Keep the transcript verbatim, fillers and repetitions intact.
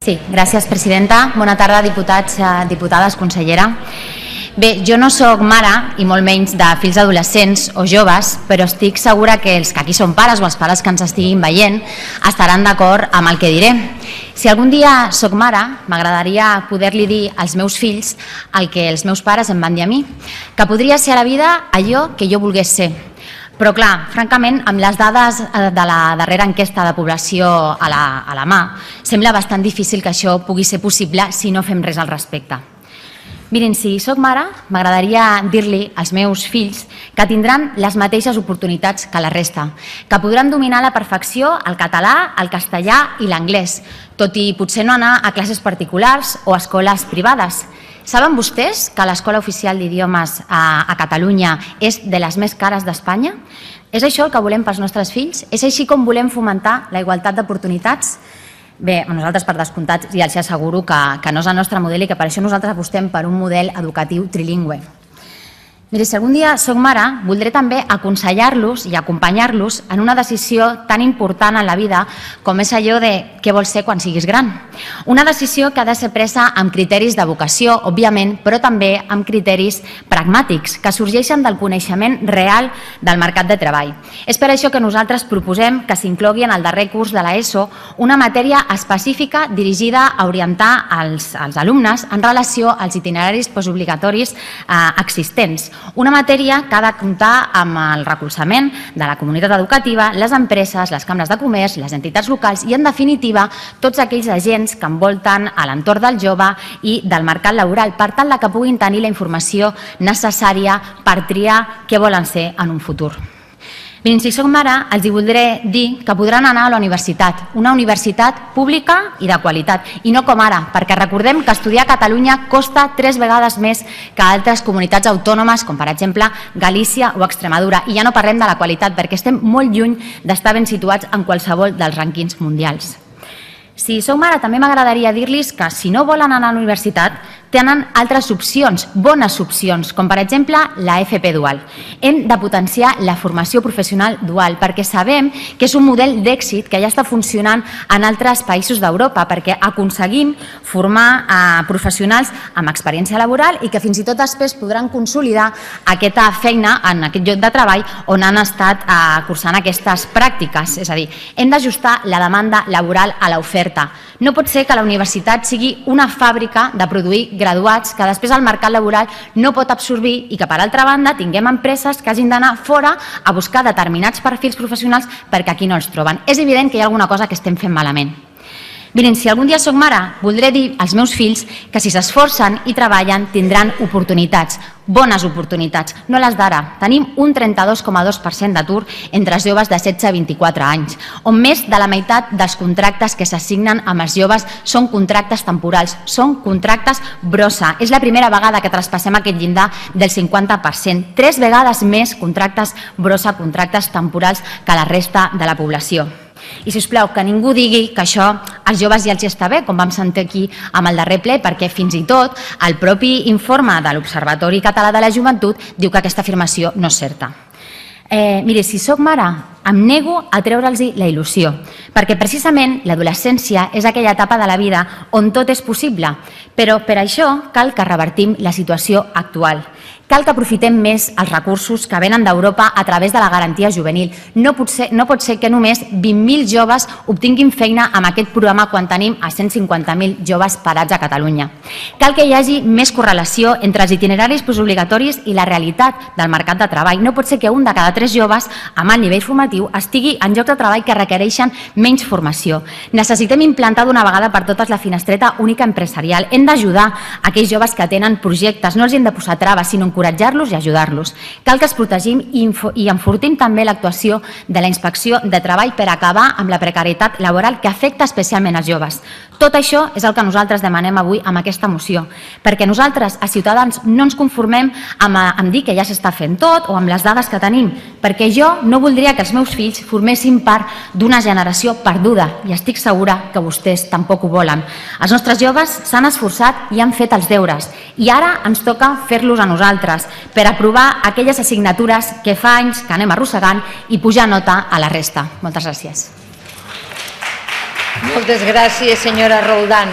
Sí, gràcies, presidenta. Bona tarda, diputats, diputades, consellera. Bé, jo no soc mare, i molt menys de fills adolescents o joves, però estic segura que els que aquí són pares o els pares que ens estiguin veient estaran d'acord amb el que diré. Si algun dia soc mare, m'agradaria poder-li dir als meus fills el que els meus pares em van dir a mi, que podria ser a la vida allò que jo volgués ser. Però clar, francament, amb les dades de la darrera enquesta de població a la, a la mà, sembla bastant difícil que això pugui ser possible si no fem res al respecte. Mirin, si soc mare, m'agradaria dir-li als meus fills que tindran les mateixes oportunitats que la resta, que podran dominar a la perfecció el català, el castellà i l'anglès, tot i potser no anar a classes particulars o a escoles privades. Saben vostès que l'Escola Oficial d'Idiomes a Catalunya és de les més cares d'Espanya? És això el que volem pels nostres fills? És així com volem fomentar la igualtat d'oportunitats? Bé, nosaltres per descomptat ja els asseguro que no és el nostre model i que per això nosaltres apostem per un model educatiu trilingüe. Miri, si algun dia soc mare, voldré també aconsellar-los i acompanyar-los en una decisió tan important en la vida com és allò de què vols ser quan siguis gran. Una decisió que ha de ser presa amb criteris de vocació, òbviament, però també amb criteris pragmàtics, que sorgeixen del coneixement real del mercat de treball. És per això que nosaltres proposem que s'inclogui en el darrer curs de l'ESO una matèria específica dirigida a orientar els alumnes en relació als itineraris postobligatoris existents. Una matèria que ha de comptar amb el recolzament de la comunitat educativa, les empreses, les cambres de comerç, les entitats locals i, en definitiva, tots aquells agents que envolten a l'entorn del jove i del mercat laboral, per tal que puguin tenir la informació necessària per triar què volen ser en un futur. Mirin, si soc mare, els hi voldré dir que podran anar a la universitat, una universitat pública i de qualitat, i no com ara, perquè recordem que estudiar a Catalunya costa tres vegades més que a altres comunitats autònomes, com per exemple Galícia o Extremadura, i ja no parlem de la qualitat, perquè estem molt lluny d'estar ben situats en qualsevol dels rànquings mundials. Si soc mare, també m'agradaria dir-los que si no volen anar a la universitat, tenen altres opcions, bones opcions, com per exemple la F P dual. Hem de potenciar la formació professional dual perquè sabem que és un model d'èxit que ja està funcionant en altres països d'Europa perquè aconseguim formar professionals amb experiència laboral i que fins i tot després podran consolidar aquesta feina en aquest lloc de treball on han estat cursant aquestes pràctiques. És a dir, hem d'ajustar la demanda laboral a l'oferta. No pot ser que la universitat sigui una fàbrica de produir graduats que després el mercat laboral no pot absorbir i que, per altra banda, tinguem empreses que hagin d'anar fora a buscar determinats perfils professionals perquè aquí no els troben. És evident que hi ha alguna cosa que estem fent malament. Miren, si algun dia soc mare, voldré dir als meus fills que si s'esforcen i treballen tindran oportunitats, bones oportunitats, no les d'ara. Tenim un trenta-dos coma dos per cent d'atur entre els joves de setze a vint-i-quatre anys, on més de la meitat dels contractes que s'assignen amb els joves són contractes temporals, són contractes brossa. És la primera vegada que traspassem aquest llindar del cinquanta per cent, tres vegades més contractes brossa, contractes temporals que la resta de la població. I, sisplau, que ningú digui que això als joves ja els està bé, com vam sentir aquí amb el darrer ple, perquè fins i tot el propi informe de l'Observatori Català de la Joventut diu que aquesta afirmació no és certa. Miri, si soc mare, em nego a treure'ls la il·lusió, perquè precisament l'adolescència és aquella etapa de la vida on tot és possible, però per això cal que revertim la situació actual. Cal que aprofitem més els recursos que venen d'Europa a través de la garantia juvenil. No pot ser, no pot ser que només vint mil joves obtinguin feina amb aquest programa quan tenim a cent cinquanta mil joves parats a Catalunya. Cal que hi hagi més correlació entre els itineraris postobligatoris i la realitat del mercat de treball. No pot ser que un de cada tres joves amb alt nivell formatiu estigui en llocs de treball que requereixen menys formació. Necessitem implantar d'una vegada per totes la finestreta única empresarial. Hem d'ajudar aquells joves que tenen projectes, no els hem de posar traves, sinó encoratjar-los i ajudar-los. Cal que els protegim i enfortim també l'actuació de la Inspecció de Treball per acabar amb la precarietat laboral que afecta especialment els joves. Tot això és el que nosaltres demanem avui amb aquesta moció, perquè nosaltres, a Ciutadans, no ens conformem amb dir que ja s'està fent tot o amb les dades que tenim, perquè jo no voldria que els meus fills formessin part d'una generació perduda i estic segura que vostès tampoc ho volen. Els nostres joves s'han esforçat i han fet els deures i ara ens toca fer-los a nosaltres per aprovar aquelles assignatures que fa anys que anem arrossegant i pujar nota a la resta. Moltes gràcies. Moltes gràcies, senyora Roldán.